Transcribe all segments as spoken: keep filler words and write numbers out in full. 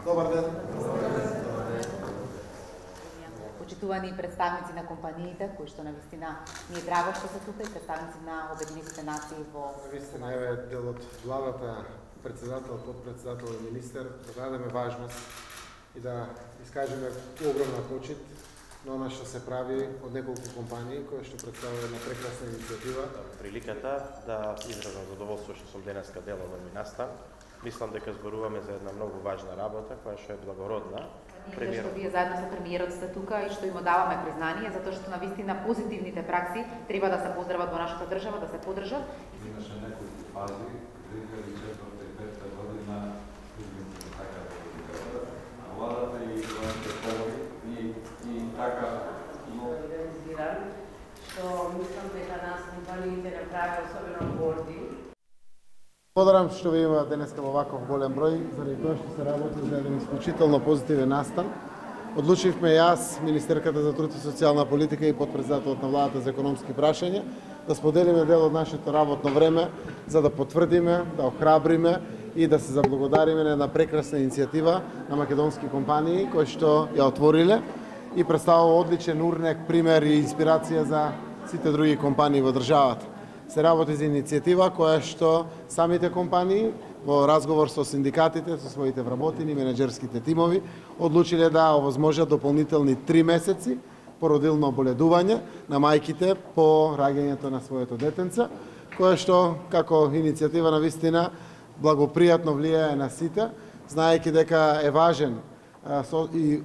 Добар ден. Почитувани представници на компаниите, кои што навистина ни е драго што се тука, и представници на Обединетите нации во Навистина еве дел од владата, председател, подпредседател и министер, да дадеме важност и да искажеме огромна почит на она што се прави од неколку компании кои што представуваат една прекрасна иницијатива. Приликата да изразам задоволство што сум денеска дел од овој настан. Мислам дека зборуваме за една многу важна работа која што е благородна. Премиер, што вие заедно со премиерот сте тука и што им даваме признание, затоа што навистина позитивните пракси треба да се поздрават во нашата држава, да се поддржат. Имаше неколку фази, две илјади и четврта и петта година, така да владата и военните комори и, и така организиран, што мислам дека нас компаниите направи особено горди. Благодарам што ви има денеска во ваков голем број, заради тоа што се работи за еден исклучително позитивен настан. Одлучивме јас, Министерката за труд и социјална политика и подпредседателот на владата за економски прашања, да споделиме дел од нашето работно време, за да потврдиме, да охрабриме и да се заблагодариме на една прекрасна иницијатива на македонски компании кои што ја отвориле и представува одличен урнек, пример и инспирација за сите други компании во државата. Се работи за иницијатива која што самите компании во разговор со синдикатите, со своите вработени, менеджерските тимови, одлучиле да овозможат дополнителни три месеци породилно оболедување на мајките по раѓањето на своето детенце, кое што како иницијатива на вистина благопријатно влијае на сите, знаејќи дека е важен и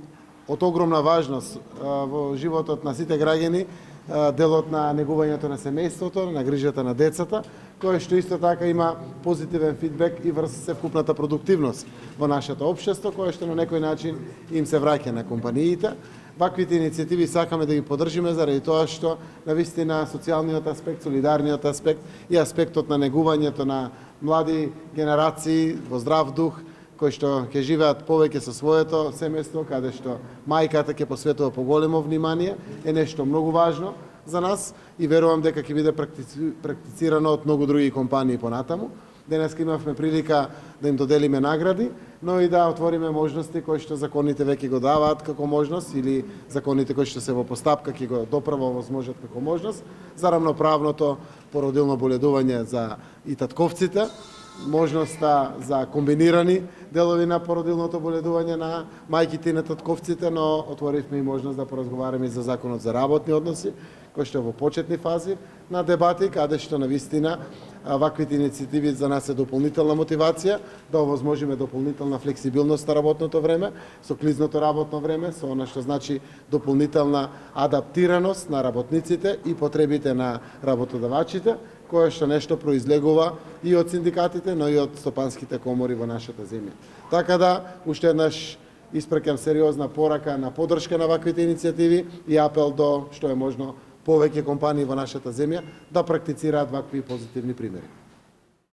од огромна важност во животот на сите граѓани делот на негувањето на семејството, на грижата на децата, кој што исто така има позитивен фидбек и врз севкупната продуктивност во нашето општество, кое што на некој начин им се враќа на компаниите. Ваквите иницијативи сакаме да ги поддржиме заради тоа што навистина социјалниот аспект, солидарниот аспект и аспектот на негувањето на млади генерации во здрав дух, кои што ќе живеат повеќе со своето семејство, каде што мајката ќе посветува поголемо внимание, е нешто многу важно за нас и верувам дека ќе биде практицирано од многу други компании понатаму. Денеска имавме прилика да им доделиме награди, но и да отвориме можности кои што законите веќе го даваат како можност или законите кои што се во постапка ќе го допрво возможат како можност за рамноправното породилно боледување за и татковците, можноста за комбинирани делови на породилното боледување на мајките и на татковците, но отворивме и можност да поразговараме за законот за работни односи, кој што е во почетни фази на дебати, каде што навистина ваквите иницијативи за нас е дополнителна мотивација да овозможиме дополнителна флексибилност на работното време, со клизното работно време, со она што значи дополнителна адаптираност на работниците и потребите на работодавачите, кое што нешто произлегува и од синдикатите, но и од стопанските комори во нашата земја. Така да, уште еднаш испрекам сериозна порака на поддршка на ваквите иницијативи и апел до што е можно повеќе компании во нашата земја да практицираат вакви позитивни примери.